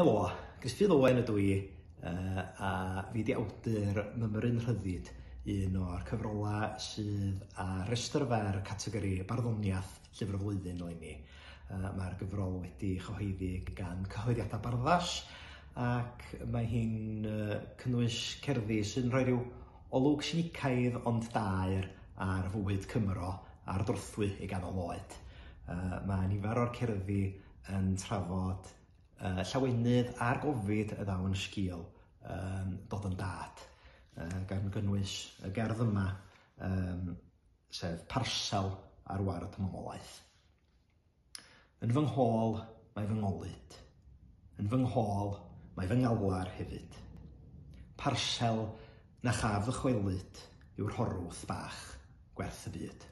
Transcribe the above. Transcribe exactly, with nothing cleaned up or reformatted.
Helo, Gruffydd Owen ydw i, uh, a fi 'di awdur Mymryn Rhyddid, un o'r cyfrolau sydd ar restr fer categori barddoniaeth Llyfr y Flwyddyn eleni. Uh, Mae'r gyfrol wedi chyhoeddi gan Cyhoeddiadau Barddas, ac mae hi'n uh, cynnwys cerddi sy'n rhoi rhyw olwg sinicaidd ond daer ar fywyd Cymro ar drothwy ei ganol oed. Uh, mae nifer o'r cerddi yn trafod uh, llawenydd a'r gofid y ddaw yn sgil um, dod yn dad, uh, gan gynnwys y gerdd yma, um, sef Parsel ar Ward Mamolaeth. Yn fy nghôl mae fy ngolud, yn fy nghôl mae fy ngalar hefyd. Parsel na chaf ddychwelyd yw'r horwth bach gwerth y byd.